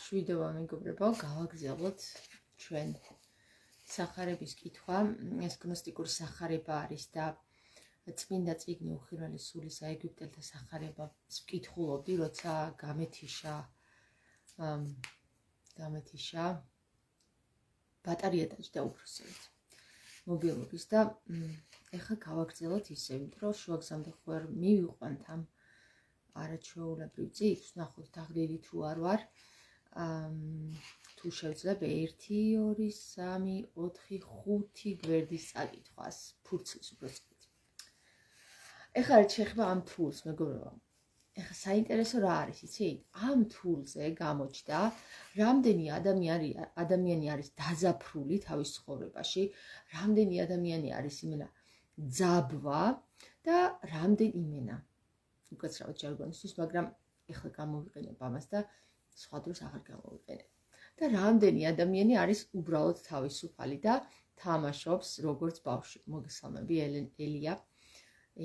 მშვიდობა მეგობრებო, გავაგრძელოთ ჩვენ სახარების კითხვა. ეს გნოსტიკური სახარება არის და წმინდა წიგნი უხილველი სულისა ეგვიპტელთა სახარებას ვკითხულობდი, როცა გამეთიშა ბატარია დაჭდა უფროსებით მობილობის და ეხლა გავაგრძელოთ ისე, რომ შუაგზამდე ხო არ მივიყვანთ ამ არაჩვეულებრივ წიგნს, ნახოთ დაღდიდით თუ არ ვარ. თუ შევძლებ 1, 2, 3, 4, 5 გვერდის წაკითხვას, ფურცლის უბრალოდ. ეხლა რა შეეხება ამ თულს, მეგობრებო. ეხლა საინტერესო რა არის, იცით? ამ თულზე გამოჩნდა, რამდენი ადამიანი არის დაზაფრული თავის ცხოვრებაში, რამდენი ადამიანი არის იმენა ძაბვა და რამდენი იმენა უკაცრავად ჟარგონისთვის, მაგრამ ეხლა გამოვიყენებ ამას და სხვა დროს აღარ გამოვიყენებ. და რამდენი ადამიანი არის უბრალოდ თავისუფალი და თამაშობს როგორც ბავშვი. მოგესალმები,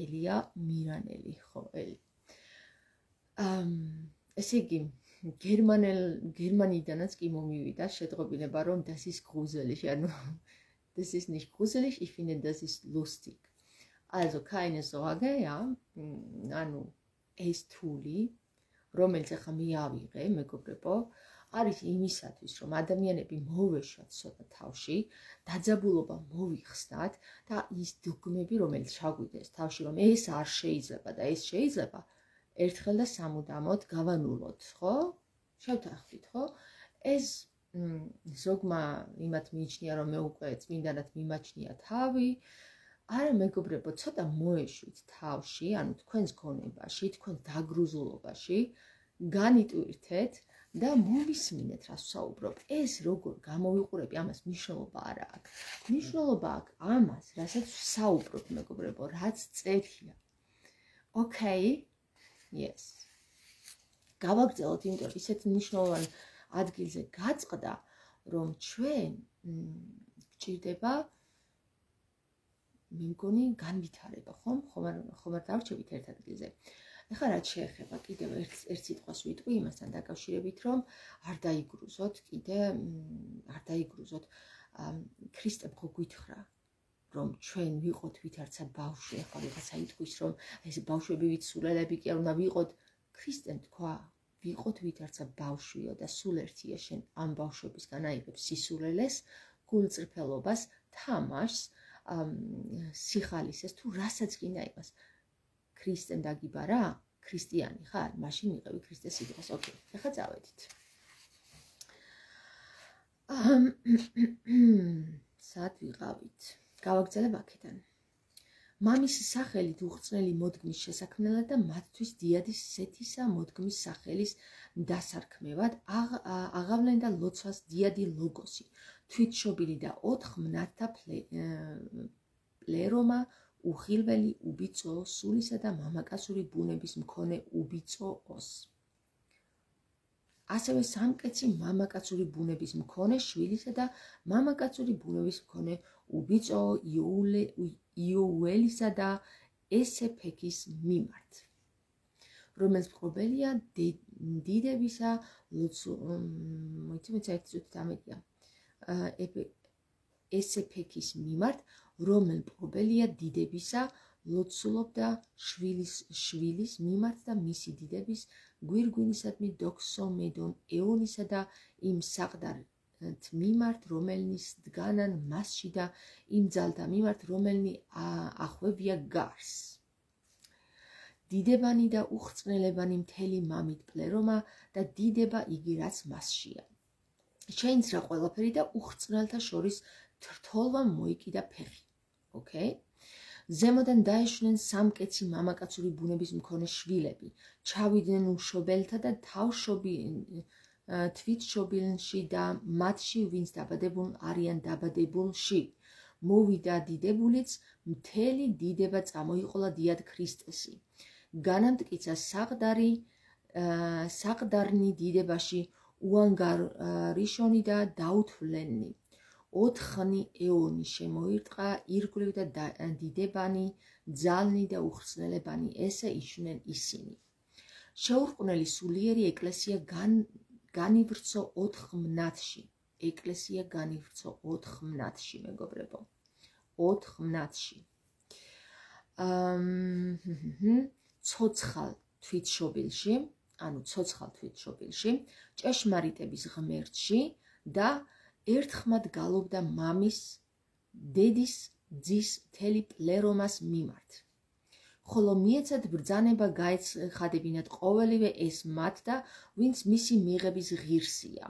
ელია მირანელი, ხო, ელი. ესე იგი, გერმანიდანაც კი მომივიდა შეტყობინება, რომ das ist gruselig, ანუ das ist nicht gruselig, ich finde das ist lustig. Also keine Sorge, ja, ანუ ეს თული, რომელიც ახლა მიავიღე, მეგობრებო, არის იმისათვის, რომ ადამიანები მოვეშვათ ცოტა თავში, დაძაბულობა მოვიხსნათ და ის დოგმები, რომელიც ჩაგვიდეს თავში, რომ ეს არ შეიძლება და ეს შეიძლება, ერთხელ და სამუდამოდ გავანულოთ, ხო? შევთანხმდით, ხო? ეს ზოგმა იმათ მიიჩნია, რომ მე უკვე წმინდანად მიმაჩნია თავი. არა მეგობრებო, ცოტა მოეშვით თავში, ანუ თქვენს გონებაში, თქვენს დაგრუზულობაში, განიტვირთეთ და მოვისმინეთ, რა ვსაუბრობ. ეს როგორ გამოვიყურები, ამას მნიშვნელობა არ აქვს. მნიშვნელობა აქვს ამას, რასაც ვსაუბრობ, მეგობრებო, რაც წერია. Okay? Yes. გავაგრძელოთ, იმიტომ რომ ისეთ მნიშვნელოვან ადგილზე გაწყდა, რომ ჩვენ გვჭირდება მე მგონი განვითარება, ხომ არ დავრჩებით ერთ ადგილზე. ეხლა რაც შეეხება კიდევ ერთ სიტყვას ვიტყვი იმასთან დაკავშირებით, რომ არ დაიგრუზოთ ქრისტემ ხო გვითხრა, რომ ჩვენ ვიყოთ ვითარცა ბავშვი, ეხლა ვიღაცა იტყვის, რომ ეს ბავშვები ვიცულელები კი არ უნდა ვიყოთ. ქრისტემ თქვა, ვიყოთ ვითარცა ბავშვიო და სულ ერთია შენ ამ ბავშვებისგან აიღებ სისულელეს, გულწრფელობას, თამაშს, სიხალისეს თუ რასაც გინდა იმას. ქრისტემ დაგიბარა, ქრისტიანი ხარ, მაშინ მიყევი ქრისტეს სიტყვას. ოკეი, ახლა წავედით. სად ვიყავით? გავაგრძელებ აქედან. მამის სახელით უხრწნელი მოდგმის შესაქმნელად და მათთვის დიადის სეთისა მოდგმის სახელის დასარქმევად აღავლენ და ლოცვას დიადი ლოგოსი, თვითშობილი და 4 მნათთა პლერომა, უხილველი, უბიწო, სულისა და მამაკაცური ბუნების მქონე უბიწო ოს. ასევე სამკეცი მამაკაცური ბუნების მქონე შვილისა და მამაკაცური ბუნების მქონე უბიწო იოუელისა და ესეფექის მიმართ, რომელიც მფლობელია დიდებისა ესეფექის მიმართ, რომელ მფლობელია დიდებისა ლოცულობდა შვილის მიმართ და მისი დიდების გვირგვინისადმი დოქსომედონ ეონისა და იმ საყდართ მიმართ, რომელნის დგანან მასში და იმ ძალთა მიმართ, რომელნი ახვევია გარს. დიდებანი და უხრწნელებანი მთელი მამით პლერომა და დიდება იგი რაც მასშია. შეინცრა ყველაფერი და უხრწნელთა შორის თრთოლვა მოიკიდა ფეხი. Okay? ზემოდან დაეშვნენ სამკეცი მამაკაცური ბუნების მქონე შვილები, ჩავიდნენ უშობელთა და თვითშობილნში და მათში ვინც დაბადებულ არიან დაბადებულში. მოვიდა დიდებულიც, მთელი დიდება წამოიყოლა დიად ქრისტესი. განამტკიცა საყდარნი დიდებაში უანგარიშონი და დაუთვლენი. 4 ეონი შემოირტყა ირგვლივ და დიდებანი, ძალნი და უხრწნელებანი, ესე იშვნენ ისინი. შეურყვნელი სულიერი ეკლესია განივრცო 4 მნათში. ეკლესია განივრცო 4 მნათში, მეგობრებო. 4 მნათში. ცოცხალ თვითშობილში, ანუ ცოცხალ თვითშობილში, ჭეშმარიტების ღმერთში და ერთხმად გალობდა მამის, დედის, ძის მთელი პლერომას მიმართ. ხოლო მიეცათ ბრძანება გაეცხადებინათ ყოველივე ეს მათ და ვინც მისი მიღების ღირსია.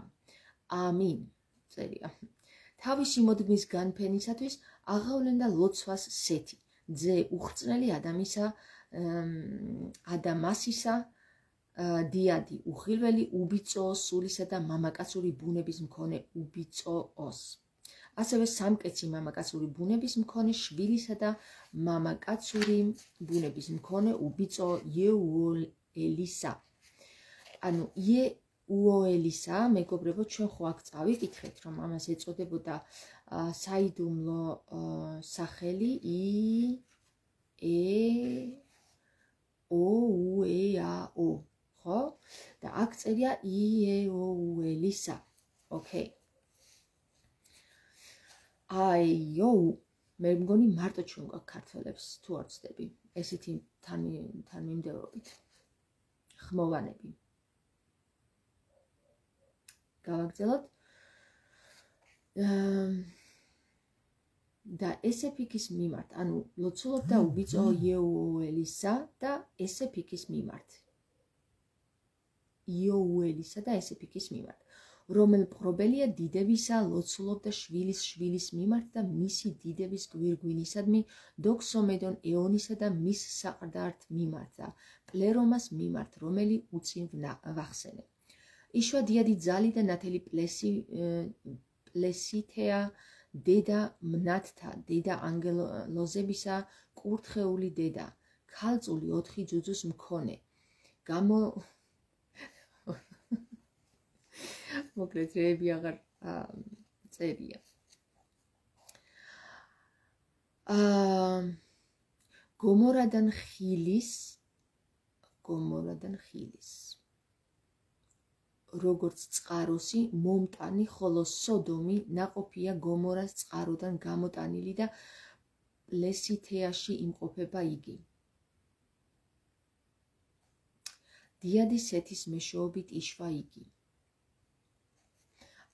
ამინ. წერია. თავისი მოდგმის განფენისათვის აღავლენდა ლოცვას სეთი, ძე უხრწნელი ადამასისა, დიადი უხილველი უბიწო სულისა და მამაკაცური ბუნების მქონე უბიწოოს. ასევე სამკეცი მამაკაცური ბუნების მქონე შვილისა და მამაკაცური ბუნების მქონე უბიწო იეუელისა. ანუ იეუელისა, მეგობრებო, ჩვენ ხო აქ წავიკითხეთ, რომ ამას ეწოდებოდა საიდუმლო სახელი იეოუეაო, ხო? და აქ წერია იეუელისა. ოკეი. აიო, მე მგონი მარტო ჩვენ გვაქვს ქართველებს თუ არ ვცდები, ესეთი თანმიმდევრობით ხმოვანები. გავაგრძელოთ. და ესეფიკის მიმართ, ანუ ლოცულობდა უბიწო იეუელისა და ესეფიკის მიმართ. იეუელისა და ესეფიკის მიმართ. რომელ მპყრობელია დიდებისა ლოცულობდა შვილის მიმართ და მისი დიდების გვირგვინისადმი დოქსომედონ ეონისა და მის საყდართ მიმართ და პლერომას მიმართ, რომელი უწინ ვახსენე. იშვა დიადი ძალი და ნათელი პლესითეა დედა მნათთა, დედა ანგელოზებისა, კურთხეული დედა, ქალწული 4 ძუძუს მქონე. მოკლედ რეები აღარ წერია. გომორადან ხილის როგორც წყაროსი მომტანი, ხოლო სოდომი ნაყოფია გომორას წყაროდან გამოტანილი და პლესითეაში იმყოფება იგი. დიადი სეთის მეშვეობით იშვა იგი.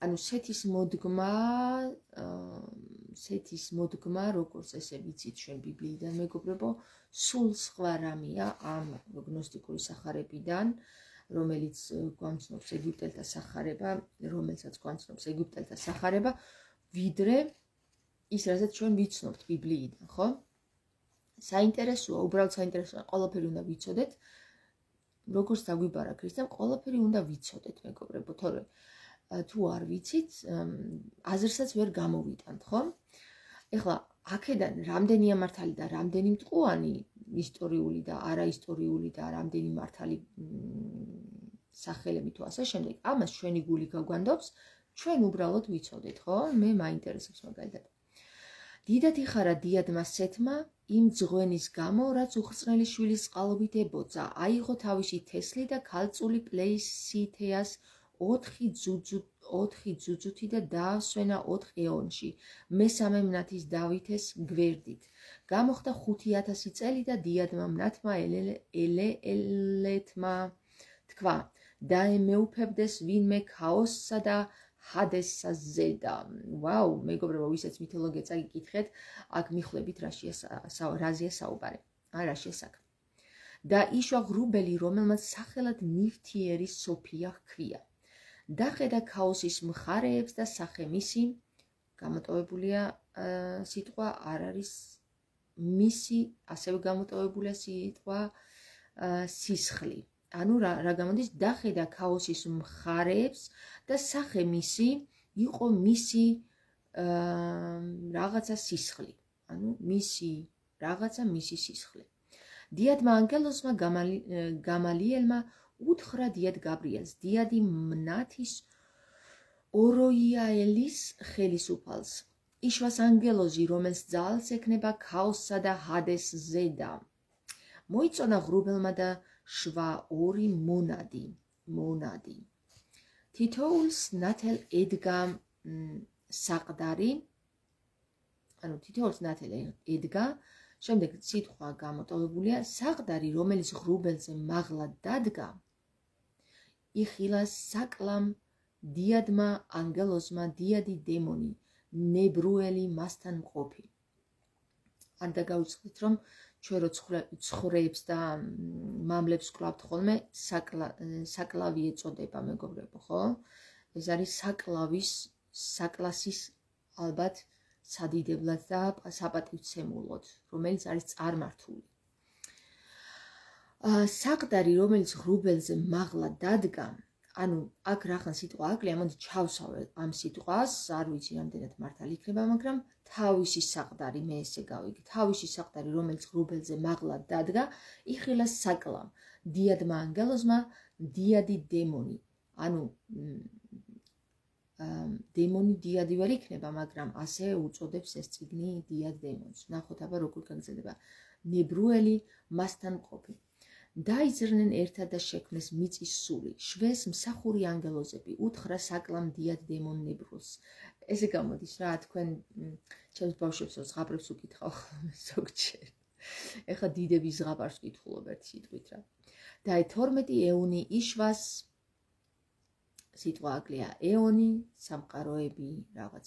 ანუ სეთის მოდგმა, როგორც ესე ვიცით ჩვენ ბიბლიიდან, მეგობრებო, სულ სხვა რამეა ამ გნოსტიკური სახარებიდან, რომელსაც გვამცნობს ეგვიპტელთა სახარება, ვიდრე ის, რასაც ჩვენ ვიცნობთ ბიბლიიდან, ხო? საინტერესოა, უბრალოდ საინტერესოა, ყველაფერი უნდა ვიცოდეთ, როგორც დაგვიბარა ქრისტემ, ყველაფერი უნდა ვიცოდეთ, მეგობრებო, თორე თუ არ ვიცით, აზრსაც ვერ გამოვიტანთ, ხო? ეხლა აქედან რამდენია მართალი და რამდენი მტყუანი, ისტორიული და არაისტორიული და რამდენი მართალი სახელები თუ ასე შემდეგ, ამას ჩვენი გული გაგვანდობს, ჩვენ უბრალოდ ვიცოდეთ, ხო? მე მაინტერესებს მაგალითად. დიდად იხარა დიადმა სეთმა იმ ძღვენის გამო, რაც უხრწნელი შვილის წყალობით ებოძა, აიღო თავისი თესლი და ქალწული პლესითეას 4 ძუძუთი და დაასვენა 4 ეონში, მესამე მნათის დავითეს გვერდით. გამოხდა 5000 წელი და დიადმა მნათმა ელეთმა თქვა, დაემეუფებდეს ვინმე ქაოსსა და ჰადესსა ზედა. ვაუ, მეგობრებო, ვისაც მითოლოგია წაგიკითხეთ, აქ მიხვდებით რაზეა საუბარი. რაშია საქმე. და იშვა ღრუბელი, რომელმაც სახელად ნივთიერი სოფია ჰქვია. დახედა ქაოსის მხარეებს და სახე მისი, გამოტოვებულია სიტყვა არ არის მისი, ასევე გამოტოვებულია სიტყვა სისხლი. ანუ რა გამოდის, დახედა ქაოსის მხარეებს და სახე მისი იყო მისი რაღაცა სისხლი. ანუ მისი რაღაცა მისი სისხლი. დიადმა ანგელოზმა გამალიელმა უთხრა დიად გაბრიელს, დიადი მნათის ოროიაელის ხელისუფალს. იშვას ანგელოზი, რომელს ძალს ექნება ქაოსსა და ჰადეს ზედა. მოიწონა ღრუბელმა და შვა 2 მონადი. თითოეულს ნათელ ედგა საყდარი, ანუ თითოეულს ნათელ ედგა, შემდეგ სიტყვა გამოტოვებულია საყდარი, რომელიც ღრუბელზე მაღლა დადგა, იხილა საკლამ დიადმა ანგელოზმა დიადი დემონი, ნებრუელი მასთან მყოფი. არ დაგავიწყდით, რომ ჩვენ რო ცხრეებს და მამლებს ვკლავთ ხოლმე, საკლავი ეწოდება, მეგობრებო, ხო? ეს არის საკლასის ალბათ სადიდებლად და საპატივცემულოდ, რომელიც არის წარმართული. საყდარი, რომელიც ღრუბელზე მაღლა დადგა, ანუ აქ რახან სიტყვა აკლია, მოდი ჩავსავე ამ სიტყვას, არ ვიცი რამდენად მართალი იქნება, მაგრამ თავისი საყდარი, მე ესე გავიგე, თავისი საყდარი, რომელიც ღრუბელზე მაღლა დადგა, იხილა საკლამ დიადმა ანგელოზმა დიადი დემონი, ანუ დემონი დიადი ვერ იქნება, მაგრამ ასე უწოდებს ეს წიგნი დიად დემონს. ნახოთ აბა როგორ გაგრძელდება. ნებრუელი მასთან მყოფი. დაიძრნენ ერთად და შექმნეს მიწის სული, შვეს მსახური ანგელოზები, უთხრა საკლამ დიად დემონ ნებრულს. ესე გამოდის რა, თქვენ ჩემს ბავშვებს ზღაპრებს უკითხავ ზოგჯერ. ეხლა დიდების ზღაპარს ვკითხულობ ერთ სიტყვით რა. და 12 ეონი იშვას, სიტყვა აკლია ეონი, სამყაროები, რაღაც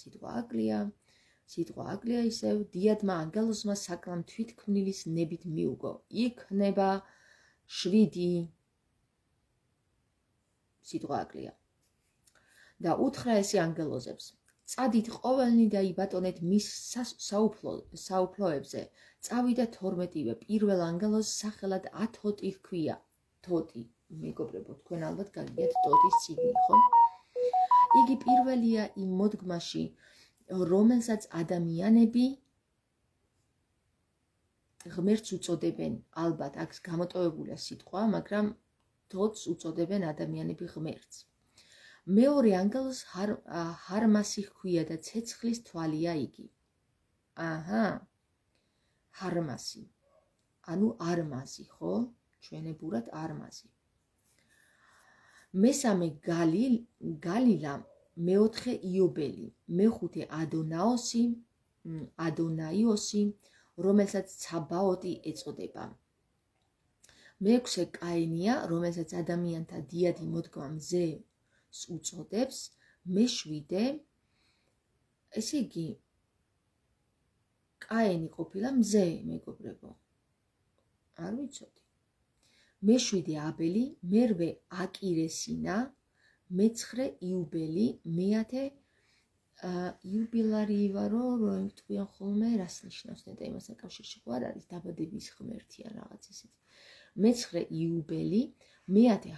სიტყვა აკლია ისევ, დიადმა ანგელოზმა საკლამ თვითქმნილის ნებით მიუგო. იქნება 7 სიტყვა აკლია. და უთხრა ესე ანგელოზებს, წადით ყოველნი და იბატონეთ მის საუფლოებზე, წავიდა 12-ვე პირველ ანგელოზს სახელად ათოტი ჰქვია. თოტი, მეგობრებო, თქვენ ალბათ გაგიგეთ ტოტის წიგნი, ხო? იგი პირველია იმ მოდგმაში, რომელსაც ადამიანები ღმერთს უწოდებენ, ალბათ აქ გამოტოვებულია სიტყვა, მაგრამ თოთს უწოდებენ ადამიანები ღმერთს. მეორე ანგელოზს ჰარმასი ჰქვია და ცეცხლის თვალია იგი. ჰარმასი, ანუ არმაზი, ხო? ჩვენებურად არმაზი. მესამე გალილა, მეოთხე იობელი, მეხუთე ადონაიოსი, რომელსაც ცაბაოტი ეწოდება. მეექვსე კაენია, რომელსაც ადამიანთა დიადი მოდგმა მზეს უწოდებს. მეშვიდე, ესე იგი, კაენი ყოფილა მზე, მეგობრებო. არ ვიცოდი. მეშვიდე აბელი, მერვე აკირესინა, მეცხრე იუბელი, მეათე იუბილარივა, რომ თქვენ ხოლმე რას ნიშნავს და იმასთან კავშირში ხო არ არის დაბადების ღმერთი ან რაღაც ისეთი. მეცხრე იუბელი, მეათე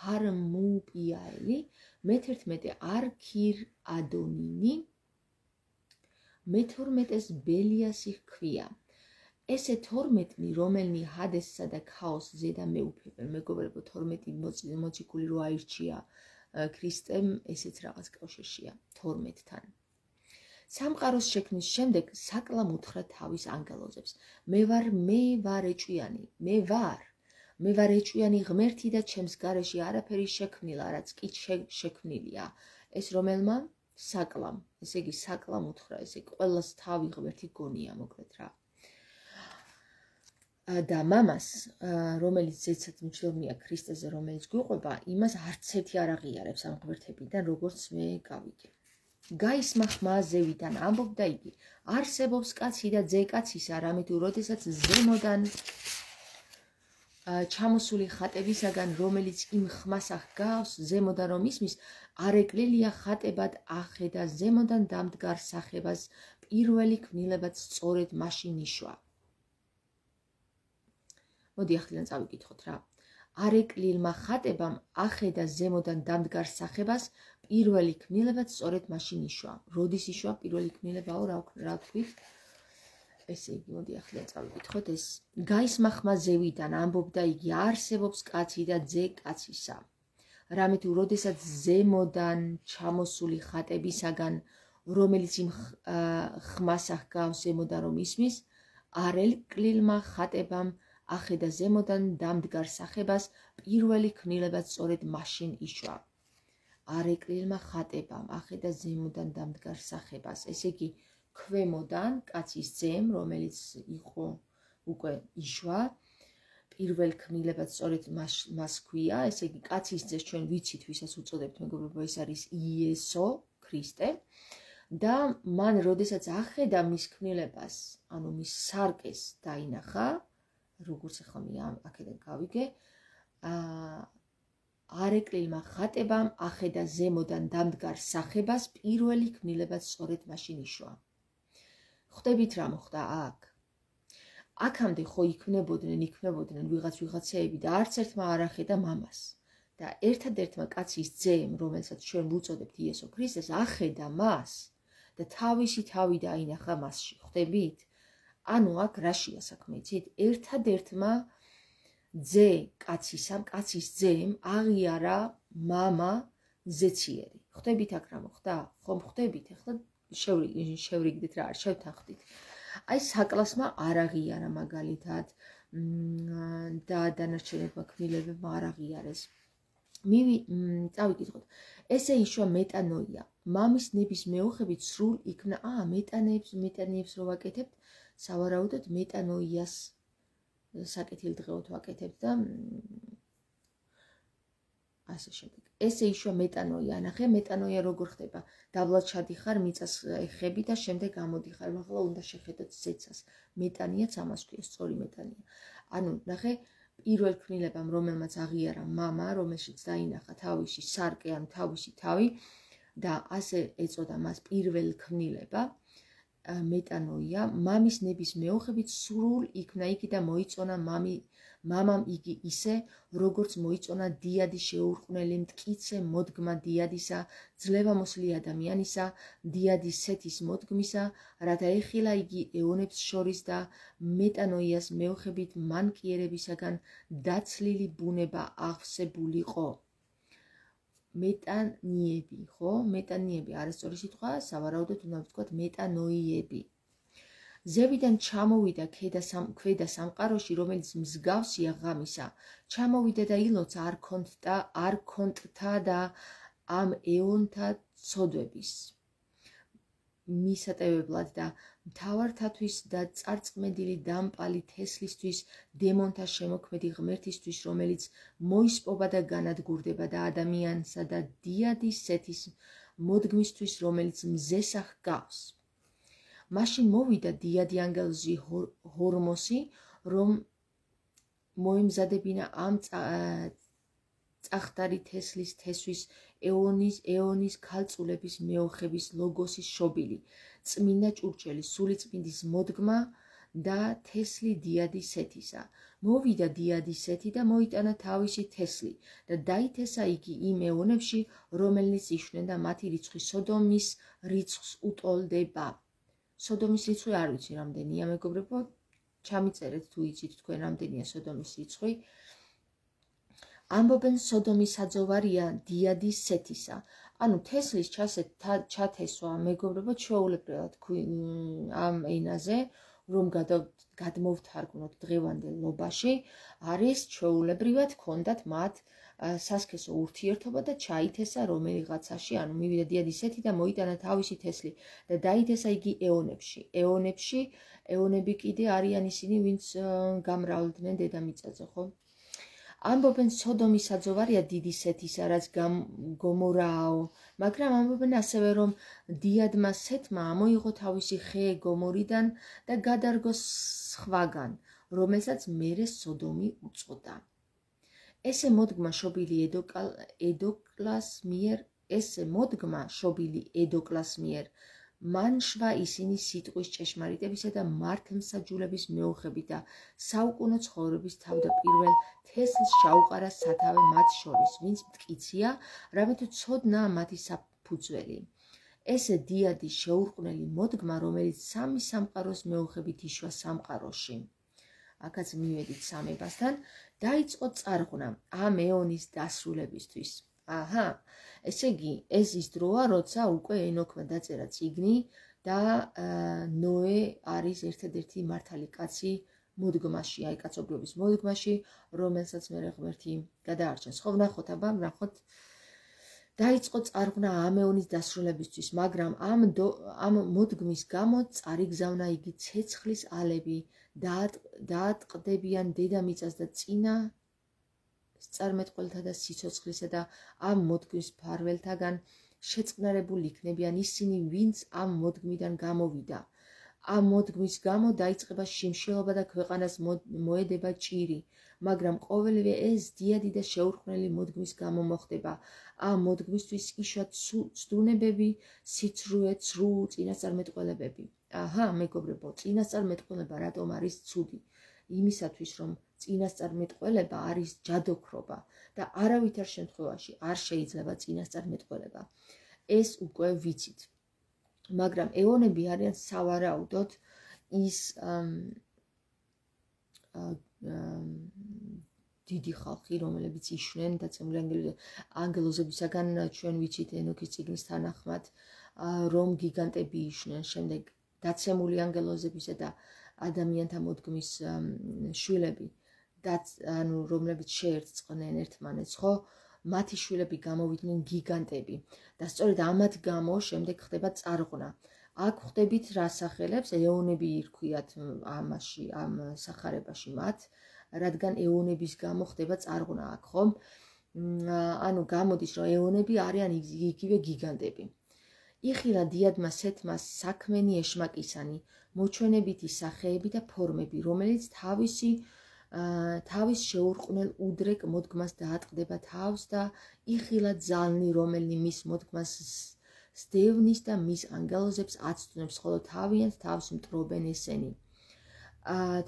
ჰარმუპიაელი, მე-11 არქირ ადონინი, მე-12-ს ბელიასი ჰქვია. ესე 12, რომელნი ჰადესსა და ქაოსს ზედა მეუფებენ, მეგობრებო, 12 მოციქული რო აირჩია ქრისტემ, ესეც რაღაც კავშირშია 12-თან. სამყაროს შექმნის შემდეგ საკლამ უთხრა თავის ანგელოზებს. მე ვარ ეჭვიანი ღმერთი და ჩემს გარეში არაფერი შექმნილა, რაც კი შექმნილია. ეს რომელმა? საკლამ. ესე იგი საკლამ უთხრა, ესე ყველას თავი ღმერთი გონია, მოკლედ რა. და მამას, რომელიც ზეცად მჯდომია ქრისტეზე, რომელიც გვიყვება, იმას არც ერთი არ აღიარებს ამ ღმერთებიდან, როგორც მე გავიგე. გაისმა ხმა ზევიდან, ამბობდა იგი, არსებობს კაცი და ძე კაცისა, რამით როდესაც ზემოდან ჩამოსული ხატებისაგან, რომელიც იმ ხმას აღგავს, ზემოდან რომ ისმის, არ ეკლელია ხატებად ახედა ზემოდან დამდგარ სახებას, პირველი ქმნილებაც სწორედ მაშინ იშვა. მოდი ახლა წავიკითხოთ რა. არეკლილმა ხატებამ ახედა ზემოდან დამდგარ სახებას, პირველი ქმნილებაც სწორედ მაშინ იშვა. როდის იშვა პირველი ქმნილებაო, რა თქვით? ესე იგი, მოდი ახლა წავიკითხოთ ეს. გაისმა ხმა ზევიდან, ამბობდა იგი, არსებობს კაცი და ძე კაცისა. რამით როდესაც ზემოდან ჩამოსული ხატებისაგან, რომელიც იმ ხმას აღგავს ზემოდან რომ ისმის, არეკლილმა ხატებამ ახედა ზემოდან დამდგარ სახებას, პირველი ქმნილებაც სწორედ მაშინ იშვა. არეკლილმა ხატებამ ახედა ზემოდან დამდგარ სახებას, ესე იგი ქვემოდან კაცის ძემ, რომელიც იყო უკვე იშვა, პირველ ქმნილებაც სწორედ მას ქვია, ესე იგი კაცის ძეს ჩვენ ვიცით, ვისაც უწოდებთ მეგობრებო, ეს არის იესო ქრისტე და მან როდესაც ახედა მის ქმნილებას, ანუ მის სარკეს დაინახა, როგორც ახლა მე აქედან გავიგე, არეკლილმა ხატებამ ახედა ზემოდან დამდგარ სახებას, პირველი ქმნილებაც სწორედ მაშინ იშვა. ხვდებით რა მოხდა აქ? აქამდე ხო იქმნებოდნენ ვიღაცეები და არც ერთმა არ ახედა მამას. და ერთადერთმა კაცის ძემ, რომელსაც ჩვენ ვუწოდებთ იესო ქრისტეს, ახედა მას და თავისი თავი დაინახა მასში. ხვდებით? ანუ აქ რაშია საქმე, იცით? ერთადერთმა კაცის ძემ აღიარა მამა ზეციერი. ხვდებით აქ რა მოხდა? ხომ ხვდებით? ახლა შევრიგდით რა არის, შევთანხმდით. აი საკლასმა არ აღიარა მაგალითად და დანარჩენებმა ქმნილებებმა არ აღიარეს. წავიკითხოთ. ესე იშვა მეტანოია. მამის ნების მეოხებით სრულ იქნა, მეტანიებს რო ვაკეთებთ, სავარაუდოდ მეტანოიას საკეთილდღეოდ ვაკეთებთ და ასე შემდეგ. ესე იშვა მეტანოია, ნახე მეტანოია როგორ ხდება. დაბლად ჩადიხარ, მიწას ეხები და შემდეგ გამოდიხარ. ახლა უნდა შეხედოთ ზეცას. მეტანიაც ამას ქვია, სწორი მეტანია. ანუ ნახე პირველ ქმნილებამ, რომელმაც აღიარა მამა, რომელშიც დაინახა თავისი სარკე, ანუ თავისი თავი და ასე ეწოდა მას პირველ ქმნილება, მეტანოია, მამის ნების მეოხებით სრულ იქნა იგი და მოიწონა მამამ იგი ისე, როგორც მოიწონა დიადი შეურყვნელი მტკიცე მოდგმა დიადისა, ძლევამოსილი ადამიანისა, დიადის სეთის მოდგმისა, რათა ეხილა იგი ეონებს შორის და მეტანოიას მეოხებით მანკიერებისაგან დაცლილი ბუნება აღსებულიყო. მეტანიები, ხო? მეტანიები არასწორი სიტყვაა, სავარაუდოდ უნდა ვთქვათ მეტანოიები. ზევიდან ჩამოვიდა ქვედა სამყაროში, რომელიც მსგავსია ღამისა. ჩამოვიდა და ილოცა არქონტთა და ამ ეონთა ცოდვების მისატევებლად და მთავართათვის და წარწმედილი დამპალი თესლისთვის, დემონთა შემოქმედი ღმერთისთვის, რომელიც მოისპობა და განადგურდება და ადამიანსა და დიადის სეთის მოდგმისთვის, რომელიც მზესა ჰგავს. მაშინ მოვიდა დიადი ანგელოზი ჰორმოსი, რომ მოემზადებინა ამ წახდარი თესლის თესვის ეონის ქალწულების მეოხების ლოგოსის შობილი, წმინდა ჭურჭელი, სულიწმინდის მოდგმა და თესლი დიადის სეთისა. მოვიდა დიადის სეთი და მოიტანა თავისი თესლი და დაითესა იგი იმ ეონებში, რომელნიც იშვნენ და მათი რიცხვი სოდომის რიცხვს უტოლდება. სოდომის რიცხვი არ ვიცი რამდენია, მეგობრებო, ჩამიწერეთ თუ იცით თქვენ რამდენია სოდომის რიცხვი. ამბობენ სოდომის საძოვარია დიადის სეთისა. ანუ თესლის ჩათესვა, მეგობრებო, ჩვეულებრივად ამ ენაზე, რომ გადმოვთარგმნოთ დღევანდელობაში, არის ჩვეულებრივად ჰქონდათ მათ სასქესო ურთიერთობა და ჩაითესა რომელიღაცაში, ანუ მივიდა დიადის სეთი და მოიტანა თავისი თესლი და დაითესა იგი ეონებში. ეონები კიდე არიან ისინი, ვინც გამრავლდნენ დედამიწაზე, ხო? ამბობენ სოდომის საძოვარია დიდი სეთისა, რაც გომორაო, მაგრამ ამბობენ ასევე, რომ დიადმა სეთმა ამოიღო თავისი ხე გომორიდან და გადარგო სხვაგან, რომელსაც მერე სოდომი უწოდა. ესე მოდგმა შობილი ედოკლას მიერ, მან შვა ისინი სიტყვის ჭეშმარიტებისა და მართლმსაჯულების მეოხებით და საუკუნო ცხოვრების თავდაპირველ თესლს ჩაუყარა სათავე მათ შორის, ვინც მტკიცია, რამე თუ ცოდნაა მათი საფუძველი. ესე დიადის შეურყვნელი მოდგმა, რომელიც სამი სამყაროს მეოხებით იშვა სამყაროში. აქაც მივედით სამებასთან, დაიწყო წარღვნა ამ ეონის დასრულებისთვის. ესე იგი, ეს ის დროა, როცა უკვე ენოქმა დაწერა წიგნი და ნოე არის ერთადერთი მართალი კაცი, მოდგმაში, აი კაცობრიობის მოდგმაში, რომელსაც მე ღმერთი გადაარჩენს. ხო, ვნახოთ დაიწყო წარღვნა ამეონის დასრულებისთვის, მაგრამ ამ მოდგმის გამო წარიგზავნა იგი ცეცხლის ალები, დაატყდებიან დედამიწას და წინა წარმეტყველთა და სიცოცხლისა და ამ მოდგმის მფარველთაგან შეწყნარებული იქნებიან ისინი, ვინც ამ მოდგმიდან გამოვიდა. ამ მოდგმის გამო დაიწყება შიმშილობა და ქვეყანას მოედება ჭირი, მაგრამ ყოველივე ეს დიადი და შეურყვნელი მოდგმის გამო მოხდება. ამ მოდგმისთვის იშვიათ ცდუნებები, სიცრუე, ცრუ წინასწარმეტყველებები. აჰა, მეგობრებო, წინასწარმეტყველება რატომ არის ცუდი? იმისათვის, რომ წინასწარმეტყველება არის ჯადოქრობა და არავითარ შემთხვევაში არ შეიძლება წინასწარმეტყველება. ეს უკვე ვიცით. მაგრამ ეონები არიან სავარაუდოდ ის დიდი ხალხი, რომლებიც იშვნენ დაცემული ანგელოზებისაგან, ჩვენ ვიცით ენოქის წიგნის თანახმად, რომ გიგანტები იშვნენ, შემდეგ დაცემული ანგელოზებისა და ადამიანთა მოდგმის შვილები, რომლებიც შეერწყნენ ერთმანეთს, ხო? მათი შვილები გამოვიდნენ გიგანტები და სწორედ ამათ გამო შემდეგ ხდება წარღვნა. აქ ხვდებით რას ახელებს, ეონები ირქვიათ ამაში, ამ სახარებაში მათ, რადგან ეონების გამო ხდება წარღვნა აქ, ხო? ანუ გამოდის, რომ ეონები არიან იგივე გიგანტები. იხილა დიადმა სეთმა საქმენი ეშმაკისანი, მოჩვენებითი სახეები და ფორმები, რომელიც თავის შეურყვნელ უდრეკ მოდგმას დაატყდება თავს და იხილა ძალნი, რომელი მის მოდგმას სდევნის და მის ანგელოზებს აცდუნებს, ხოლო თავიანთ თავს მტრობენ ესენი.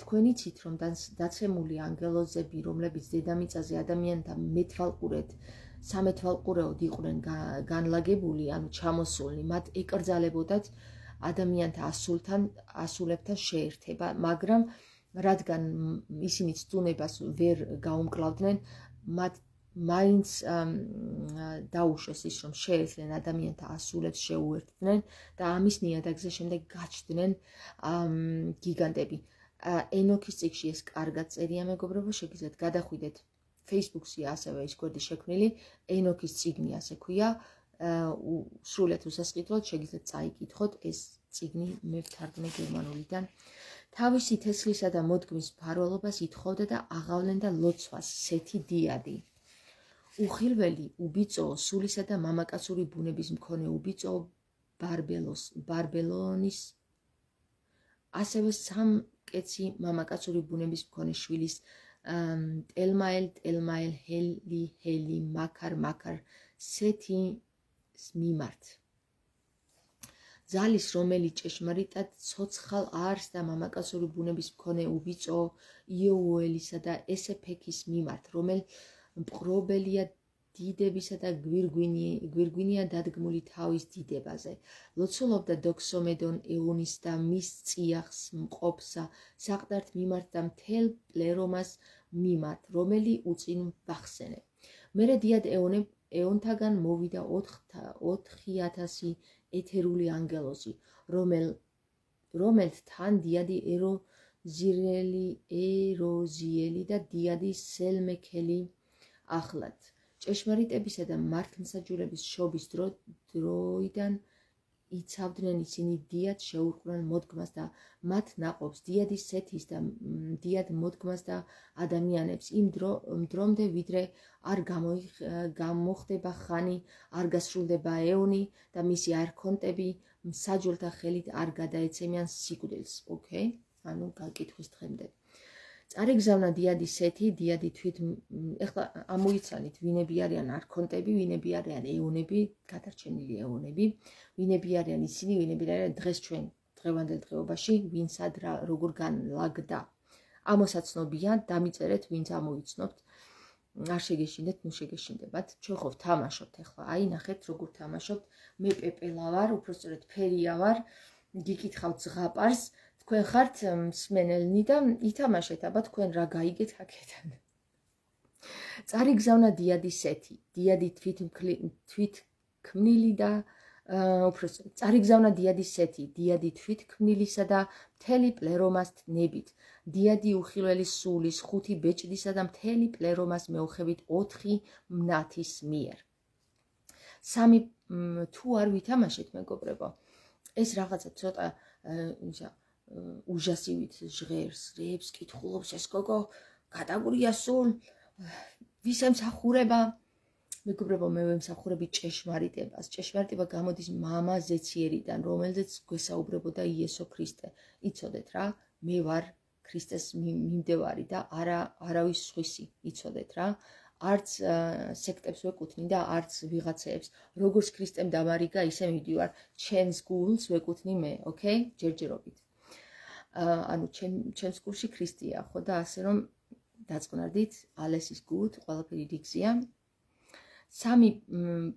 თქვენ იცით, რომ დაცემული ანგელოზები, რომლებიც დედამიწაზე ადამიანთა სამეთვალყურეოდ იყვნენ განლაგებული, ანუ ჩამოსულნი, მათ ეკრძალებოდათ ადამიანთა ასულებთან შეერთება, მაგრამ რადგან ისინი ცდუნებას ვერ გაუმკლავდნენ, მათ მაინც დაუშვეს ის, რომ შეერთდნენ ადამიანთა ასულებს, შეუერთდნენ და ამის ნიადაგზე შემდეგ გაჩნდნენ გიგანტები. ენოქის წიგნში ეს კარგად წერია, მეგობრებო, შეგიძლიათ გადახვიდეთ Facebook-ში, ასევე ის გვერდი შექმნილი, ენოქის წიგნი ასე ქვია, სრულიად უსასყიდლოდ შეგიძლიათ წაიკითხოთ ეს წიგნი, მე ვთარგმნე გერმანულიდან. თავისი თესლისა და მოდგმის მფარველობას ითხოვდა და აღავლენდა ლოცვას სეთი დიადი. უხილველი, უბიწო, სულისა და მამაკაცური ბუნების მქონე უბიწო ბარბელონის, ასევე სამკეცი მამაკაცური ბუნების მქონე შვილის ტელმაელ, ჰელი, მაქარ, სეთის მიმართ. ძალის, რომელი ჭეშმარიტად ცოცხალ არს და მამაკაცური ბუნების მქონე უბიწო იოუელისა და ესეფექის მიმართ, რომელ მპყრობელია დიდებისა და გვირგვინია დადგმული თავის დიდებაზე. ლოცულობდა დოქსომედონ ეონის და მის წიაღს მყოფსა საყდართ მიმართ და მთელ პლერომას მიმართ, რომელი უწინ ვახსენე. მერე დიად ეონთაგან მოვიდა 4000 ეთერული ანგელოზი, რომელთ თან დიადი ეროზიელი და დიადი სელმექელი ახლად. ჭეშმარიტებისა და მართლმსაჯულების შობის დროიდან იცავდნენ ისინი დიად შეურყვნელ მოდგმას და მათ ნაყოფს, დიადის სეთის და დიად მოდგმას და ადამიანებს იმ დრომდე, ვიდრე არ გამოხდება ხანი, არ გასრულდება ეონი და მისი არქონტები მსაჯულთა ხელით არ გადაეცემიან სიკვდილს. ოკეი, ანუ გაკითხვის დღემდე. წარიგზავნა დიადი სეთი, დიადი თვით, ეხლა ამოიცანით, ვინები არიან არქონტები, ვინები არიან ეონები, გადარჩენილი ეონები, ვინები არიან ისინი, ვინები არიან დღეს ჩვენ დღევანდელ დღეობაში, ვინსად როგორ განლაგდა. ამოსაცნობია, დამიწერეთ, ვინც ამოიცნობთ, არ შეგეშინდეთ, ნუ შეგეშინდებათ. ჩვენ ხო ვთამაშობთ ეხლა, აი ნახეთ როგორ თამაშობთ, მე პეპელა ვარ, უბრალოდ ფერია ვარ, გიკითხავთ ზღაპარს, თქვენ ხართ მსმენელნი და ითამაშეთ, აბა თქვენ რა გაიგეთ აქედან. წარიგზავნა დიადი სეთი, დიადი თვითქმნილი და უпроსტ წარიგზავნა დიადის სეთი, დიადი თვითქმნილისა და მთელი პლერომას ნებით, დიადი უხილველის სულის, 5 ბეჭდისა და მთელი პლერომას მეოხებით 4 მნათის მიერ. 3 თუ არ ვითამაშეთ, მეგობრებო, ეს რაღაცა ცოტა უჟასივით ჟღერს, რებს კითხულობს ეს გოგო, გადაგურია სულ, ვის ემსახურება? მეგობრებო, მე ვემსახურები ჭეშმარიტებას. ჭეშმარიტება გამოდის მამა ზეციერიდან, რომელზეც გვესაუბრებოდა იესო ქრისტე. იცოდეთ რა, მე ვარ ქრისტეს მიმდევარი და არავის სხვისი, იცოდეთ რა. არც სექტებს ვეკუთვნი და არც ვიღაცეებს. როგორც ქრისტემ დამარიგა, ისე მივდივარ, ჩემს გულს ვეკუთვნი მე, ოკეი? ჯერჯერობით. ანუ ჩემს გულში ქრისტეა, ხო და ასე რომ დაწყნარდით, ალესის გულით, ყველაფერი რიგზია. 3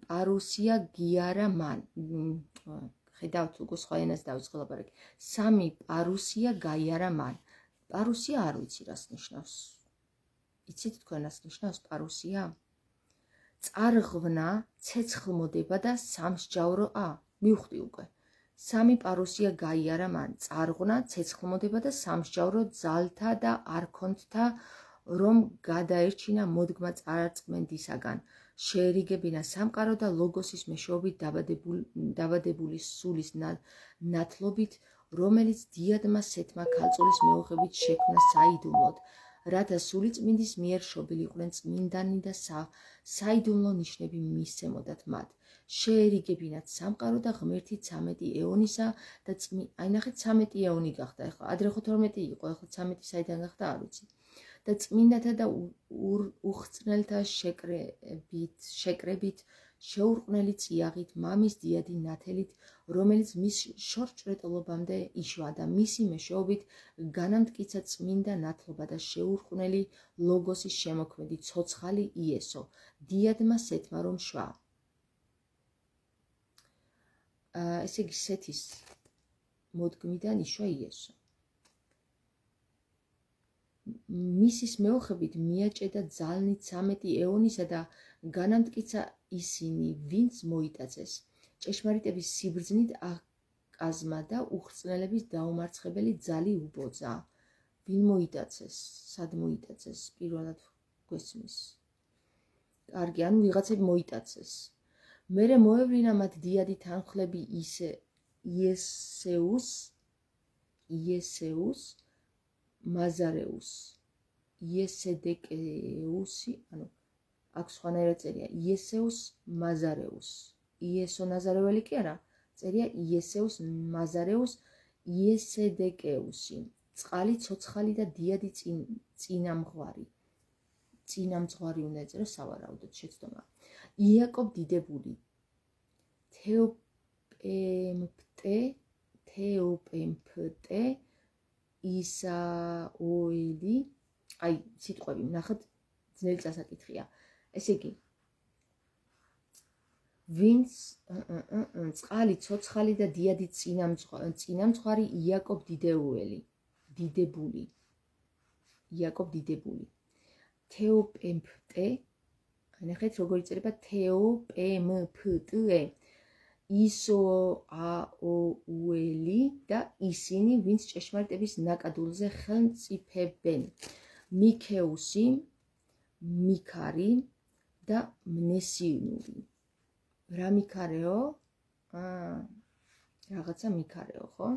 პარუსია გიარა მან. ხედავთ, უკვე სხვა ენას დავიწყე ლაპარაკი. 3 პარუსია გაიარა მან. პარუსია არ ვიცი რას ნიშნავს. იცით თქვენ რას ნიშნავს პარუსია? წარღვნა, ცეცხლმოდება და სამსჯავრო მივხვდი უკვე. 3 პარუსია გაიარა მან. წარღვნა, ცეცხლმოდება და სამსჯავრო ძალთა და არქონთთა, რომ გადაერჩინა მოდგმა წარწმენდისაგან. შეერიგებინა სამყარო და ლოგოსის მეშვეობით დაბადებული სულის ნათლობით, რომელიც დიადმა სეთმა ქალწულის მეუღებით შექმნა საიდუმლოდ, რათა სულიწმინდის მიერ შობილიყვნენ წმინდანი და საიდუმლო ნიშნები მისცემოდათ მათ. შეერიგებინათ სამყარო და ღმერთი 13 ეონისა და აი ნახეთ 13 ეონი გახდა, ეხლა ადრე ხო 12 იყო, ეხლა 13 საიდან გახდა არ ვიცი. და წმინდათა და უხრწნელთა შეკრებით შეურყვნელი წიაღით მამის დიადი ნათელით, რომელიც მის შორჭრეტლობამდე იშვა და მისი მეშვეობით განამტკიცა წმინდა ნათლობა და შეურყვნელი ლოგოსის შემოქმედი ცოცხალი იესო, დიადმა სეთმა რომ შვა. ესე იგი სეთის მოდგმიდან იშვა იესო. მისის მეოხებით მიაჭედა ძალნით 13 ეონისა და განამტკიცა ისინი, ვინც მოიტაცეს. ჭეშმარიტების სიბრძნით აკაზმა და უხრწნელების დაუმარცხებელი ძალი უბოძა. ვინ მოიტაცეს? სად მოიტაცეს? პირველად გვესმის. კარგი, ანუ ვიღაცები მოიტაცეს. მერე მოევლინა მათ დიადი თანხლები იესეუს მაზარეუს, იესედეკეუსი, ანუ აქ სხვანაირად წერია, იესეუს მაზარეუს, იესო ნაზარეველი კი არა, წერია იესეუს მაზარეუს, იესედეკეუსი, წყალი, ცოცხალი და დიადი წინამძღვარი. წინამძღვარი უნდა ეწერო სავარაუდოდ შეცდომა. იაკობ დიდებული, თეოპემფტე, ისაოელი, აი სიტყვები, ნახეთ, ძნელი წასაკითხია. ესე იგი, ვინც წყალი, ცოცხალი და დიადი წინამძღვარი იაკობ დიდებული. იაკობ დიდებული. თეოპემფტე, ნახეთ როგორ იწერება თეოპემფტე. ისაოელი და ისინი, ვინც ჭეშმარიტების ნაკადულზე ხელმწიფებენ. მიქეუსი, მიქარი და მნესინური. რა მიქარეო? რაღაცა მიქარეო, ხო?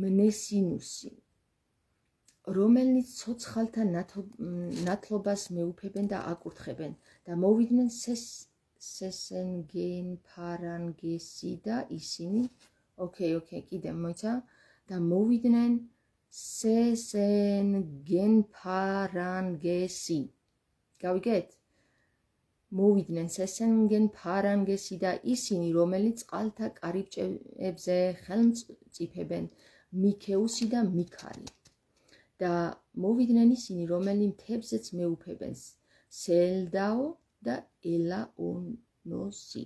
მნესინუსი, რომელნიც ცოცხალთა ნათლობას მეუფებენ და აკურთხებენ და მოვიდნენ სესენგენფარანგესი და ისინი, ოკეი, კიდე მოიცა და მოვიდნენ სესენგენფარანგესი. გავიგეთ? მოვიდნენ სესენგენფარანგესი და ისინი, რომელიც წყალთა კარიბჭეებზე ხელმწიფებენ, მიქეუსი და მიქარი. და მოვიდნენ ისინი, რომელი მთებზეც მეუფებენ, სელდაო და ელაინოსი.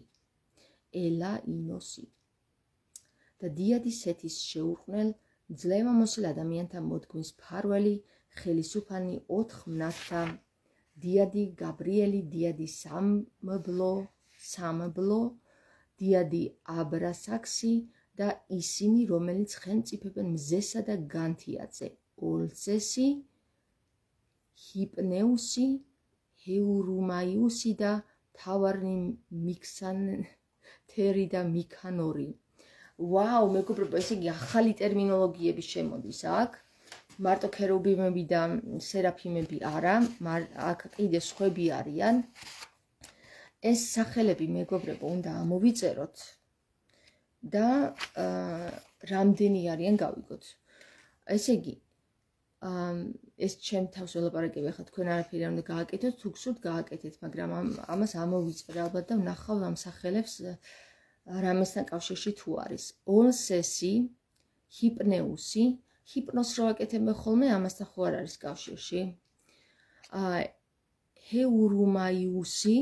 და დიადი სეთის შეურყვნელ ძლევამოსილ ადამიანთა მოდგმის მფარველი, ხელისუფანი 4 მნათთა, დიადი გაბრიელი, დიადი სამბლო, დიადი აბრასაქსი და ისინი, რომელიც ხელმწიფებენ მზესა და განთიადზე, ოლსესი, ჰიპნეუსი, ჰეურუმაიუსი და თავარნი მიქსანთერი და მიქანორი. ვაუ, მეგობრებო, ესე იგი ახალი ტერმინოლოგიები შემოდის აქ. მარტო ქერუბიმები და სერაფიმები არა, აქ კიდე სხვები არიან. ეს სახელები, მეგობრებო, უნდა ამოვიწეროთ და რამდენი არიან გავიგოთ. ესე იგი, ეს ჩემ თავს ველაპარაკებ, ახლა თქვენ არაფერი არ უნდა გააკეთოთ, თუ გსურთ გააკეთეთ, მაგრამ ამას ამოვიწერე ალბათ და ვნახავ ამ სახელებს რამესთან კავშირში თუ არის. ოლსესი, ჰიპნეუსი, ჰიპნოს რო აკეთებენ ხოლმე, ამასთან ხო არ არის კავშირში. ჰეურუმაიუსი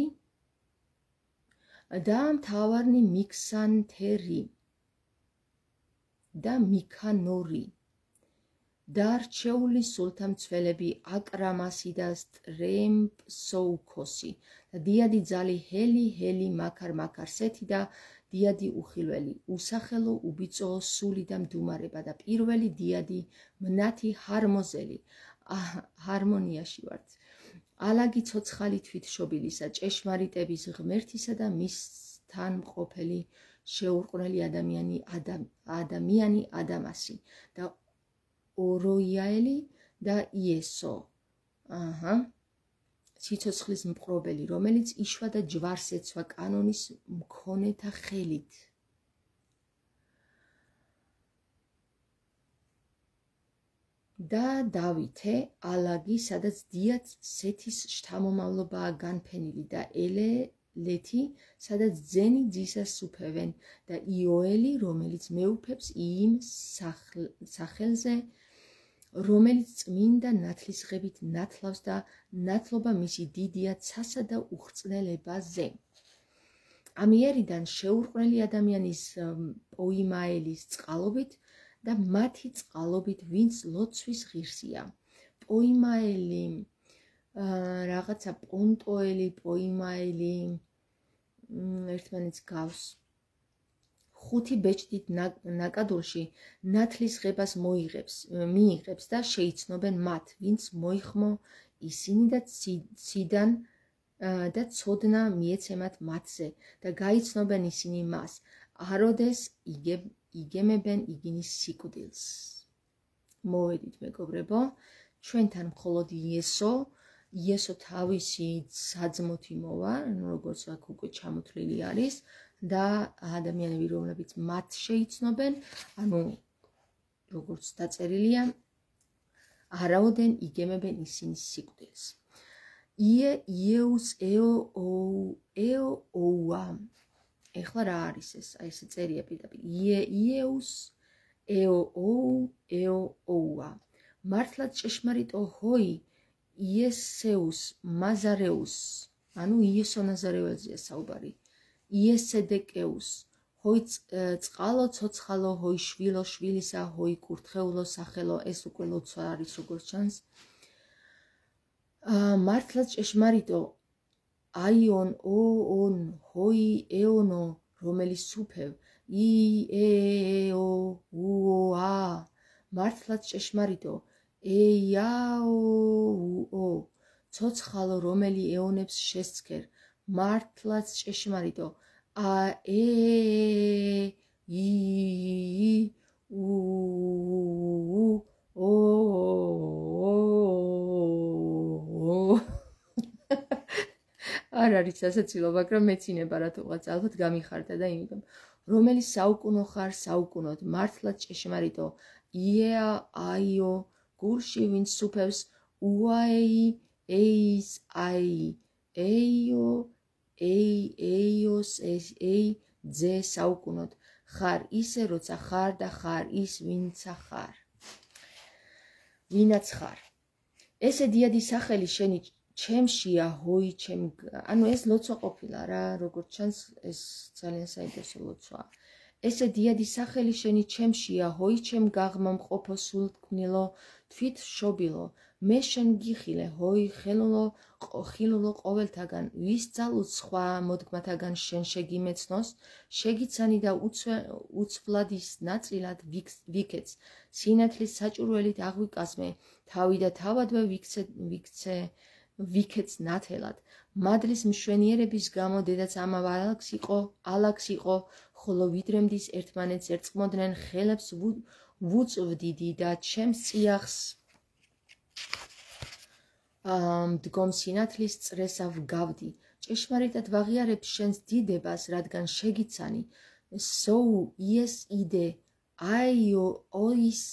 და მთავარნი მიქსანთერი და მიქანორი. დარჩეული სულთამცველები აკრამასი და სტრემპსოუქოსი და დიადი ძალი ჰელი მაქარ-მაქარსეთი და დიადი უხილველი, უსახელო, უბიწო, სული და მდუმარება და პირველი დიადი მნათი ჰარმოზელი, ჰარმონიაში ვართ. ალაგი ცოცხალი თვითშობილისა, ჭეშმარიტების ღმერთისა და მისთან მყოფელი შეურყვნელი ადამიანი ადამასი და ოროიაელი და იესო. სიცოცხლის მპყრობელი, რომელიც იშვა და ჯვარს ეცვა კანონის მქონეთა ხელით. და დავითე, ალაგი, სადაც დიად სეთის შთამომავლობაა განფენილი და ელელეთი, სადაც ძენი ძისას უფევენ და იოელი, რომელიც მეუფებს იმ სახელზე, რომელიც წმინდა ნათლისღებით ნათლავს და ნათლობა მისი დიდია ცასა და უხრწნელებაზე. ამიერიდან შეურყვნელი ადამიანის პოიმაელის წყალობით და მათი წყალობით, ვინც ლოცვის ღირსია. პოიმაელი, რაღაცა პონტოელი, პოიმაელი, ერთმანეთს გავს. ხუთი ბეჭდით ნაკადულში ნათლისღებას მიიღებს და შეიცნობენ მათ, ვინც მოიხმო ისინი და ციდან და ცოდნა მიეცემათ მათზე და გაიცნობენ ისინი მას. აროდეს იგემებენ იგინის სიკვდილს. მოვედით, მეგობრებო, ჩვენთან მხოლოდ იესო თავისი საძმოთი მოვა, როგორც აქ უკვე ჩამოთვლილი არის. და ადამიანები, რომლებიც მათ შეიცნობენ, ანუ როგორც დაწერილია, არაოდენ იგემებენ ისინი სიკვდილს. იეუს ეოუა. ეხლა რა არის ეს? აი ესე წერია პირდაპირ. იეუს ეოუა. მართლაც ჭეშმარიტო ჰოი იესეუს მაზარეუს. ანუ იესო ნაზარეველზეა საუბარი. იესედეკეუს, ჰოი წყალო ცოცხალო, ჰოი შვილო შვილისა, ჰოი კურთხეულო სახელო, ეს უკვე ლოცვა არის როგორც ჩანს. მართლაც ჭეშმარიტო აიონ ოონ ჰოი ეონო, რომელიც სუფევ იეოუა. მართლაც ჭეშმარიტო ეიაოუო, ცოცხალო, რომელი ეონებს შესცქერ. მართლაც ჭეშმარიტო არ არის სასაცილო, მაგრამ მეცინება რატოღაც ალბათ გამიხარდა და იმიტომ რომელიც საუკუნო ხარ საუკუნოდ, მართლაც ჭეშმარიტო იეა აიო, გულში ვინც სუფევს უაეი ეის აი ეიო ეიოს ეი ძე საუკუნოდ, ხარ ისე როცა ხარ და ხარ ის ვინცა ხარ. ვინაც ხარ. ესე დიადი სახელი შენი ჩემშია ჰოი ჩემ, ანუ ეს ლოცვა ყოფილა რა, როგორც ჩანს ეს ძალიან საინტერესო ლოცვაა. ესე დიადი სახელი შენი ჩემშია ჰოი ჩემ გაღმა მყოფო სულთქმნილო თვით შობილო, მე შენ გიხილე ჰოი ხილულო ყოველთაგან ვის ძალუც სხვა მოდგმათაგან შენ შეგიმეცნოს შეგიცანი და უცვლადის ნაწილად ვიქეც სინათლის საჭურველით აღვიკაზმე თავი და თავადვე ვიქეც ნათელად მადლის მშვენიერების გამო დედაც ამავ ალაგს იყო ხოლო ვიდრემდის ერთმანეთს ერწყმოდნენ ხელებს ვუწვდიდი და ჩემს წიაღს მდგომ სინათლის წრესა ვგავდი ჭეშმარიტად ვაღიარებ შენს დიდებას რადგან შეგიცანი სოუ იეს იდე აიო ოის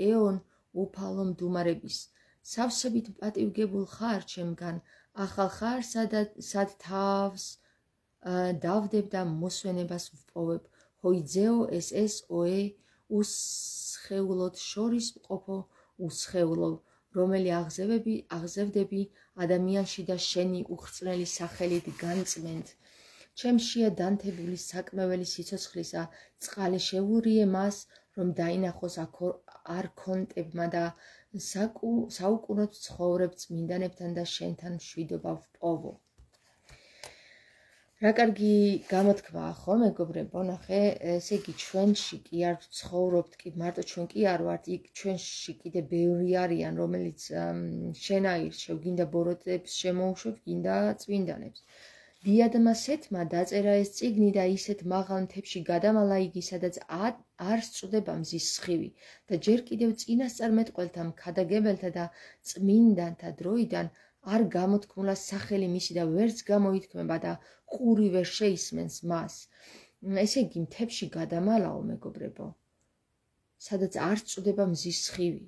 ეონ უფალო მდუმარების სავსებით პატივგებულ ხარ ჩემგან ახალ ხარ სად თავს დავდებ და მოსვენებას ვპოვებ ჰოიძეო ეს ოე უსხეულოდ შორის ყოფო უსხეულო რომელი აღზევდები ადამიანში და შენი უხრწნელი სახელით განწმენთ ჩემშია დანთებული საკმეველი სიცოცხლისა წყალი შევურიე მას რომ დაინახოს არქონტებმა და საუკუნოდ ცხოვრებ წმინდანებთან და შენთან მშვიდობა ვპოვო რა კარგი გამოთქმაა ხო მეგობრებო ნახე ესე იგი ჩვენში კი არ ცხოვრობთ კი მარტო ჩვენ კი არ ვართ იქ ჩვენში კიდე ბევრი არიან რომელიც შენაირ გინდა ბოროტებს შემოუშვებ გინდა წმინდანებს დიადმა სეთმა დაწერა ეს წიგნი და ისეთ მაღალ მთებში გადამალა იგი სადაც არ სწუდება მზის სხივი და ჯერ კიდევ წინასწარმეტყველთა მქადაგებელთა და წმინდანთა დროიდან არ გამოთქმულა სახელი მისი და ვერც გამოითქმება და ყური ვერ შეისმენს მას ესე იგი მთებში გადამალაო მეგობრებო სადაც არ სწუდება მზის სხივი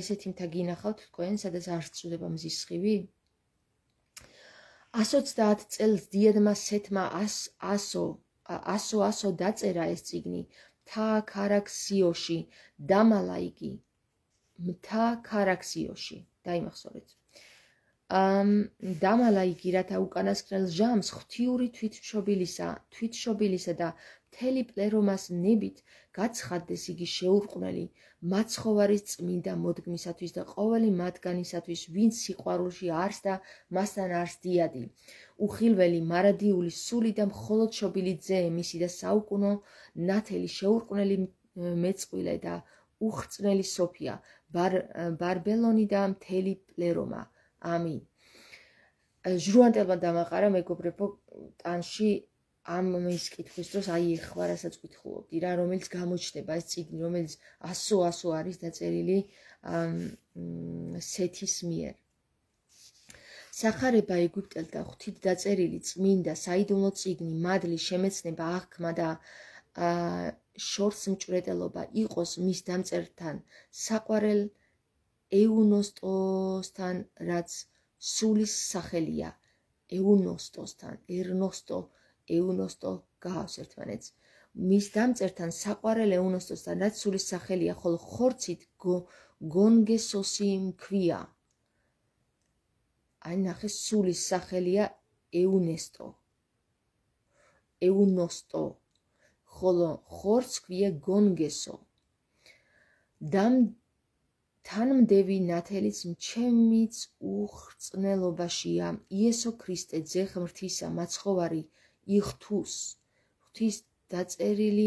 ესეთი მთა გინახავთ თქვენ სადაც არ სწუდება მზის სხივი 130 წელს დიადმა სეთმა ასო დაწერა ეს წიგნი მთა ქარაქსიოში დამალა იგი მთა ქარაქსიოში დაიმახსოვრეთ დამალა იგი რათა უკანასკნელ ჟამს ღვთიური თვითშობილისა და მთელი პლერომას ნებით გაცხადდეს იგი შეურყვნელი მაცხოვარის წმინდა მოდგმისათვის და ყოველი მათგანისათვის ვინც სიყვარულში არს და მასთან არს დიადი უხილველი მარადიული სული და მხოლოდ შობილი ძე მისი და საუკუნო ნათელი შეურყვნელი მეწყვილე და უხრწნელი სოფია ბარბელონი და მთელი პლერომა ამინ ჟრუანტელმა დამაყარა მეგობრებო ტანში ამის კითხვის დროს აი ეხლა რასაც ვკითხულობდი რა რომელიც გამოჩნდება ეს წიგნი რომელიც 100 არის დაწერილი სეთის მიერ სახარება ეგვიპტელთა ღვთით დაწერილი წმინდა საიდუმლო წიგნი მადლი შემეცნება აღქმა და შორს მჭვრეტელობა იყოს მის დამწერთან საყვარელ ეუნოსტოსთან რაც სულის სახელია ეუნოსტოსთან ეუნოსტო გავს ერთმანეთს მის დამწერთან საყვარელ ეუნოსტოსთან რაც სულის სახელია ხოლო ხორცით გონგესოსი მქვია აი ნახე სულის სახელია ეუნოსტო ხოლო ხორცს ქვია გონგესო თანმდევი ნათელიც ჩემიც უხრწნელობაშია იესო ქრისტე ძე ღმრთისა მაცხოვარი იხთუს ღვთის დაწერილი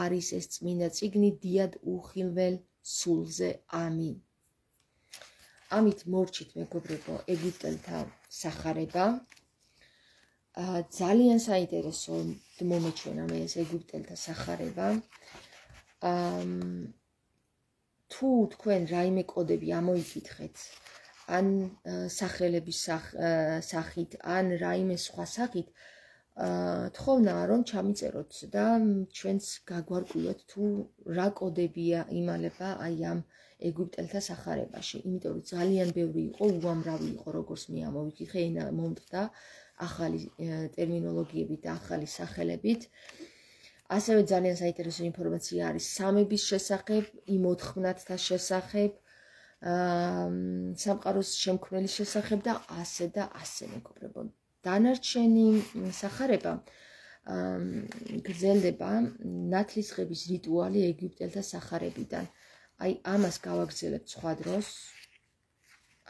არის ეს წმინდა წიგნი დიად უხილველ სულზე ამინ ამით მორჩით მეგობრებო ეგვიპტელთა სახარება ძალიან საინტერესო მომეჩვენა მე ეს ეგვიპტელთა სახარება თუ თქვენ რაიმე კოდები ამოიკითხეთ ან სახელების სახით ან რაიმე სხვა სახით თხოვნაა რომ ჩამიწეროთ და ჩვენს გაგვარკვიოთ თუ რა კოდებია იმალება აი ამ ეგვიპტელთა სახარებაში იმიტომ რომ ძალიან ბევრი იყო უამრავი იყო როგორც მე ამოვიკითხე ენა მომტყდა ახალი ტერმინოლოგიებით და ახალი სახელებით ასევე ძალიან საინტერესო ინფორმაცია არის სამების შესახებ, იმ 4-ნათთა შესახებ, სამყაროს შემქმნელის შესახებ და ასე მეგობრებო. დანარჩენი სახარება გრძელდება ნათლისღების რიტუალი ეგვიპტელთა სახარებიდან. აი ამას გავაგრძელებთ სხვა დროს.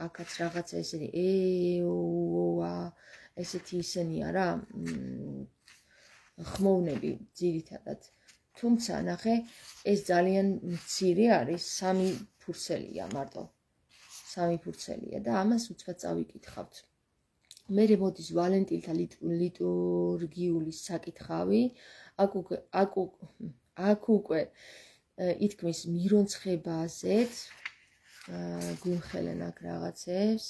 აქაც რაღაცა ესენი ესეთი ისენია რა, ხმოვნები ძირითადად. თუმცა ნახე, ეს ძალიან მცირე არის, 3 ფურცელია მარტო. 3 ფურცელია და ამას უცბად წავიკითხავთ. მერე მოდის ვალენტინთა ლიტურგიული საკითხავი. აქ უკვე ითქმის მირონცხებაზეც, გვიმხელენ აქ რაღაცებს.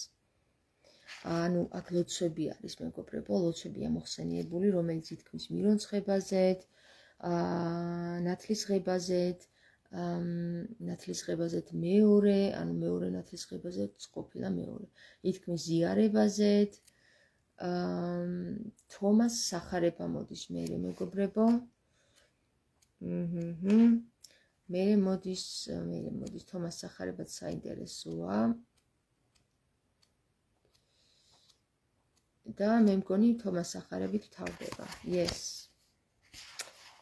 ანუ აქ ლოცვები არის, მეგობრებო, ლოცვებია მოხსენიებული, რომელიც ითქმის მირონცხებაზეც, ნათლისღებაზეც, ნათლისღებაზეც მეორე, ანუ მეორე ნათლისღებაზეც ყოფილა მეორე. ითქმის ზიარებაზეც, თომას სახარება მოდის მერე, მეგობრებო. მერე მოდის თომას სახარებაც საინტერესოა. და მე მგონი თომას სახარებით ვთავდება. Yes.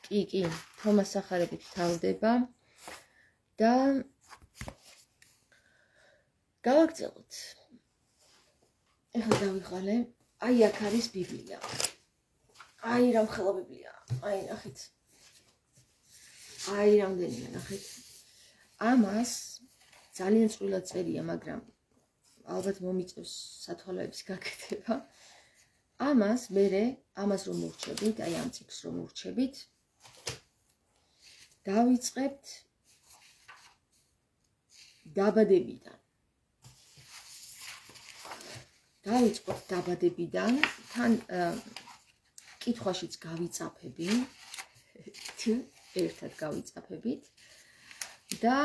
კი, თომას სახარებით ვთავდება და გავაგრძელოთ. ეხლა დავიღალე. აი აქ არის ბიბლია. აი რამხელა ბიბლია. აი ნახეთ. აი რამდენია ნახეთ. ამას ძალიან წვრილად წერია, მაგრამ ალბათ მომიწევს სათვალეების გაკეთება. ამას რომ მოვრჩებით, აი ამ წიგნს რომ მოვრჩებით, დავიწყებთ დაბადებიდან. თან კითხვაშიც გავიწაფები, ერთად გავიწაფებით და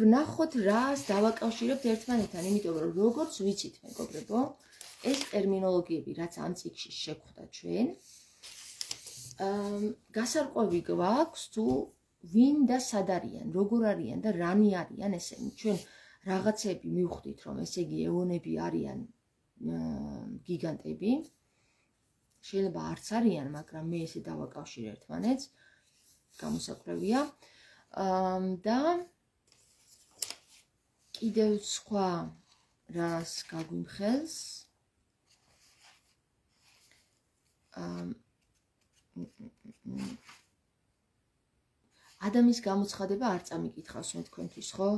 ვნახოთ რას დავაკავშირებთ ერთმანეთთან, იმიტომ რომ როგორც ვიცით, მეგობრებო, ეს ტერმინოლოგიები, რაც ამ წიგნში შეგხვდა ჩვენ, გასარკვევი გვაქვს თუ ვინ და სად არიან, როგორ არიან და რანი არიან ესენი. ჩვენ რაღაცები მივხვდით, რომ ესე იგი ეონები არიან გიგანტები. შეიძლება არც არიან, მაგრამ მე ესე დავაკავშირე ერთმანეთს. გამოსაკვლევია. და კიდევ სხვა რას გაგვიმხელს. ადამიანის გამოცხადება არ წამიკითხავს მე თქვენთვის, ხო?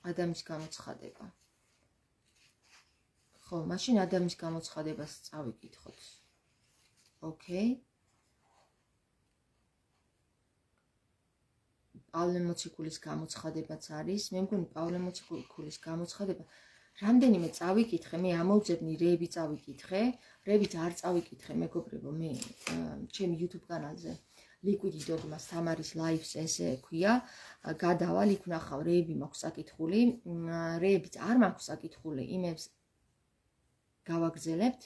ადამიანის გამოცხადება. ხო, მაშინ ადამიანის გამოცხადებას წავიკითხოთ. ოკეი. პავლე მოციქულის გამოცხადებაც არის. მე მგონი პავლე მოციქულის გამოცხადება რამდენიმე წავიკითხე, მე ამოვძებნი რეები წავიკითხე, რეებიც არ წავიკითხე, მეგობრებო, მე ჩემი YouTube კანალზე Liquid Dogmas თამარის live-ს ესე ქვია, გადავალ, იქ ვნახავ, რეები მაქვს საკითხული, რეებიც არ მაქვს საკითხული, იმებს გავაგრძელებთ,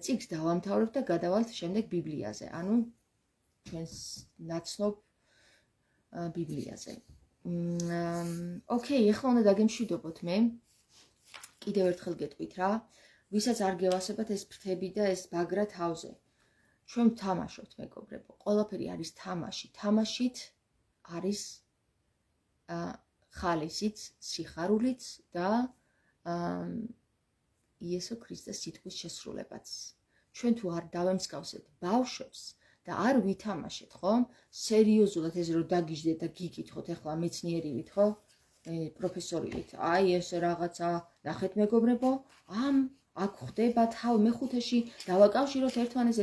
წიგნს დავამთავრებ და გადავალთ შემდეგ ბიბლიაზე, ანუ ჩვენს ნაცნობ ბიბლიაზე. ოკეი, ეხლა უნდა დაგემშვიდობოთ მე. კიდევ ერთხელ გეტყვით რა, ვისაც არ გევასებათ ეს ფრთები და ეს ბაგრა თავზე. ჩვენ ვთამაშობთ, მეგობრებო, ყველაფერი არის თამაში. თამაშით არის ხალისიც, სიხარულიც და იესო ქრისტეს სიტყვის შესრულებაც. ჩვენ თუ არ დავემსგავსეთ ბავშვებს და არ ვითამაშეთ, ხო? სერიოზულად ეს რომ დაგიჟდეთ და გიკითხოთ, ეხლა მეცნიერივით, ხო? პროფესორივით. აი ეს რაღაცა, ნახეთ მეგობრებო, აქ ხდება თავ მეხუთეში დავაკავშიროთ ერთმანეთს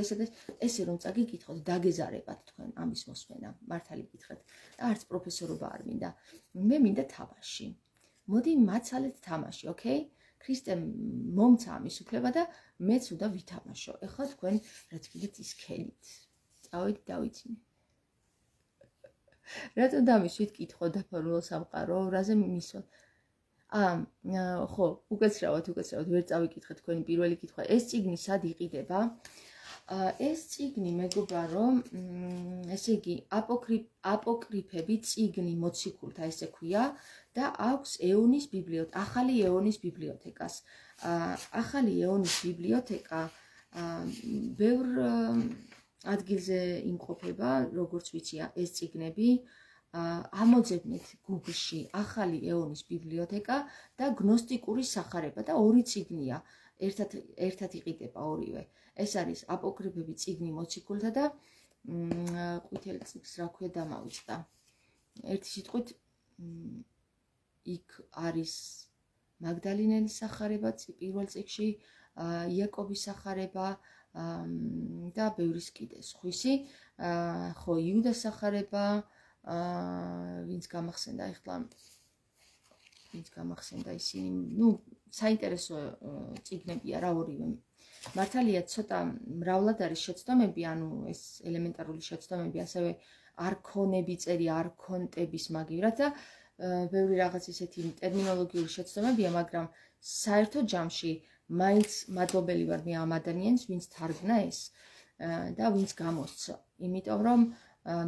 ესე რომ წაგიკითხოთ, დაგეზარებათ თქვენ ამის მოსმენა, მართალი გითხრათ. და არც პროფესორობა არ მინდა. მე მინდა თამაში. მოდი მაცალეთ თამაში, ოკეი? ქრისტემ მომცა ამის უფლება და მეც უნდა ვითამაშო. ეხლა თქვენ რაც გიგეთ ის ქელით. წავედი დავიცინე. რატო დამისვით კითხო დაფარულო სამყარო, რაზე მისვათ? ხო, უკაცრავად, ვერ წავიკითხე თქვენი პირველი კითხვა. ეს წიგნი სად იყიდება? ეს წიგნი მეგობარო, ესე იგი აპოკრიფები წიგნი მოციქულთა ესე ქვია და აქვს ეონის ბიბლიოთეკა, ახალი ეონის ბიბლიოთეკას. ახალი ეონის ბიბლიოთეკა ბევრ ადგილზე იმყოფება, როგორც ვიცი, ეს წიგნები ამოძებნეთ Google-ში ახალი ეონის ბიბლიოთეკა და გნოსტიკური სახარება და ორი წიგნია, ერთად იყიდება ორივე. ეს არის აპოკრიფები წიგნი მოციქულთა და ყვითელი წიგნის რა ქვია დამავიწყდა. ერთი სიტყვით იქ არის მაგდალინელის სახარება პირველ წიგნში, იაკობის სახარება და ბევრის კიდე სხვისი, ხო იუდას სახარება, ვინც გამახსენდა ისინი, საინტერესო წიგნებია რა ორივე. მართალია ცოტა მრავლად არის შეცდომები, ანუ ეს ელემენტარული შეცდომები, ასევე არქონები წერია, არქონტების მაგივრად და ბევრი რაღაც ისეთი ტერმინოლოგიური შეცდომებია, მაგრამ საერთო ჯამში მაინც მადლობელი ვარ მე ამ ადამიანს, ვინც თარგმნა ეს და ვინც გამოსცა. იმიტომ რომ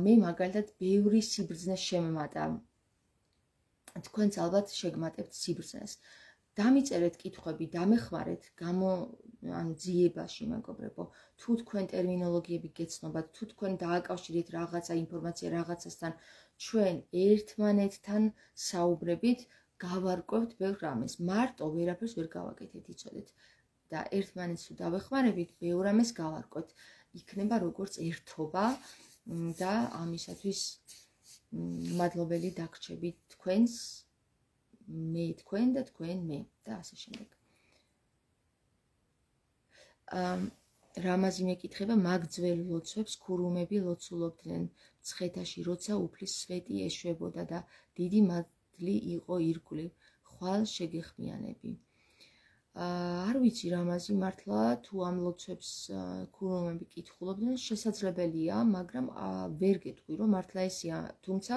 მე მაგალითად ბევრი სიბრძნე შემმატა. თქვენც ალბათ შეგმატებთ სიბრძნეს. დამიწერეთ კითხვები, დამეხმარეთ, ანუ ძიებაში, მეგობრებო, თუ თქვენ ტერმინოლოგიები გეცნობათ, თუ თქვენ დააკავშირეთ რაღაცა ინფორმაცია რაღაცასთან, ჩვენ ერთმანეთთან საუბრებით გავარკვევთ ბევრ რამეს. მარტო ვერაფერს ვერ გავაკეთეთ, იცოდეთ. და ერთმანეთს თუ დავეხმარებით, ბევრ რამეს გავარკვევთ. იქნება როგორც ერთობა და ამისათვის მადლობელი დაგრჩებით თქვენს, მე თქვენ და თქვენ მე და ასე შემდეგ. რამაზი მეკითხება, მაგ ძველ ლოცვებს ქურუმები ლოცულობდნენ მცხეთაში, როცა უფლის სვეტი ეშვებოდა და დიდი მადლი იყო ირგვლივ, ხვალ შეგეხმიანები. არ ვიცი რამაზი მართლა თუ ამ ლოცვებს ქურუმები კითხულობდნენ, შესაძლებელია, მაგრამ ვერ გეტყვი რომ მართლა ესია, თუმცა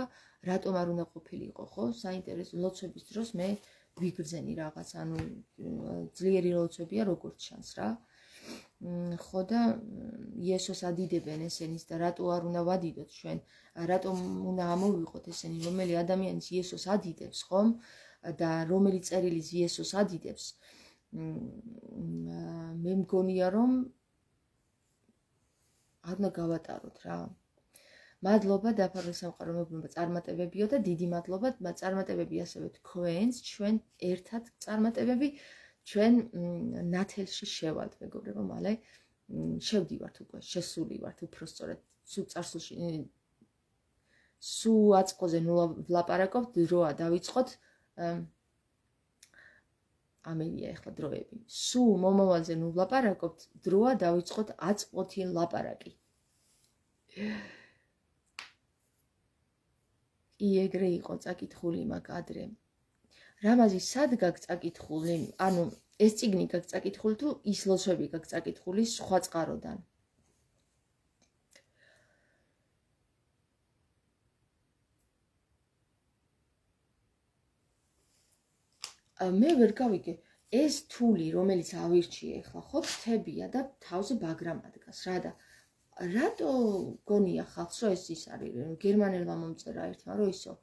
რატომ არ უნდა ყოფილიყო, ხო? საინტერესო ლოცვების დროს მე ვიგრძენი რაღაც, ანუ ძლიერი ლოცვებია როგორც ჩანს რა. ხო და იესოს ადიდებენ ესენის და რატო არ უნდა ვადიდოთ ჩვენ, რატომ უნდა ამოვიყოთ ესენი, რომელი ადამიანის იესოს ადიდებს, ხომ? და რომელი წერილის იესოს ადიდებს. მე მგონია რომ არ უნდა გავატაროთ რა. მადლობა დაფარული სამყარო მოგნება წარმატებებიო და დიდი მადლობა წარმატებები ასევე თქვენს, ჩვენ ერთად წარმატებები, ჩვენ ნათელში შევალთ, მეგობრებო, მალე შევდივართ უკვე, შესული ვართ უფრო სწორად, სულ წარსულში სულ აწყოზე ნუ ვლაპარაკობთ, დროა დავიწყოთ, ამელია ეხლა დროები. სულ მომავალზე ნუ ვლაპარაკობთ, დროა დავიწყოთ აწყვოთი ლაპარაკი. კი, ეგრე იყო წაკითხული მაგ ადრე. რამაზი სად გაქვს წაკითხული? ანუ ეს წიგნი გაქვს წაკითხული თუ ის ლოცვები გაქვს წაკითხული სხვა წყაროდან? მე ვერ გავიგე, ეს თული, რომელიც ავირჩიე ახლა, ხო, ფრთებია და თავზე ბაგრამ ადგას, რა და რატო გონია ხალხს, რომ ეს ის არის, გერმანელმა მომწერა ერთმა, რომ ისო,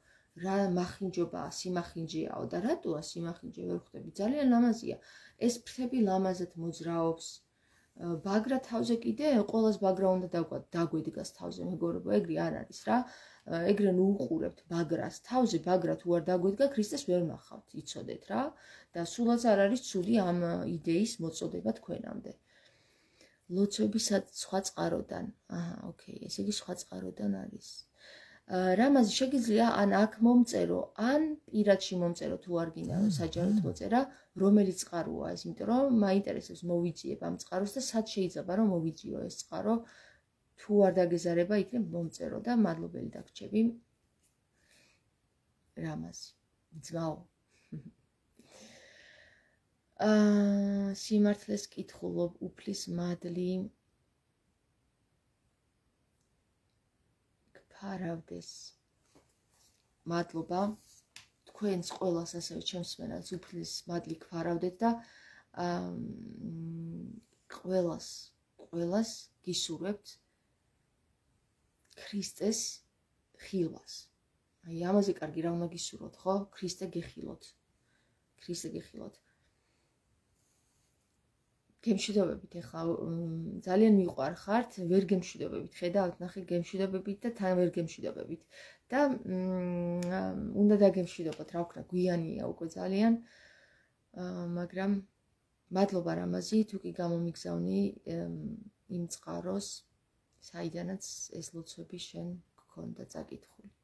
რა მახინჯობაა, სიმახინჯეაო და რატოა სიმახინჯე ვერ ხვდები, ძალიან ლამაზია. ეს ფრთები ლამაზად მოძრაობს. ბაგრა თავზე კიდე, ყოველას ბაგრა უნდა დაგვედგას თავზე, მეგობრებო, ეგრე არ არის რა. ეგრე ნუ უყურებთ ბაგრას, თავზე ბაგრა თუ არ დაგვედგა, ქრისტეს ვერ ნახავთ, იცოდეთ რა. და სულაც არ არის ცუდი ამ იდეის მოწოდება თქვენამდე. ლოცვები სხვა წყაროდან. ოკეი, ესე იგი სხვა წყაროდან არის. რამაზი შეგიძლია ან აქ მომწერო, ან პირადში მომწერო თუ არ გინდა რომ საჯაროდ მოწერა, რომელი წყაროა ეს, იმიტომ რომ მაინტერესებს მოვიძიებ ამ წყაროს და სად შეიძლება რომ მოვიძიო ეს წყარო, თუ არ დაგეზარება იქნებ მომწერო და მადლობელი დაგრჩები. რამაზი, ძმაო. სიმართლეს კითხულობ, უფლის მადლი გფარავდეს. მადლობა თქვენს ყველას, ასევე ჩემს მენელს უფლის მადლი გფარავდეთ და ყველას გისურვებთ ქრისტეს ხილვას. აი ამაზე კარგი რა უნდა გისურვოთ, ხო? ქრისტე გეხილოთ. ქრისტე გეხილოთ. გემშვიდობებით, ეხლა ძალიან მიყვარხართ, ვერ გემშვიდობებით, ხედავთ, ნახე გემშვიდობებით და თან ვერ გემშვიდობებით და უნდა დაგემშვიდობოთ, რა ვქნა, გვიანია უკვე ძალიან, მაგრამ მადლობა რამაზი, თუ კი გამომიგზავნი იმ წყაროს, საიდანაც ეს ლოცვები შენ გქონდა წაკითხული.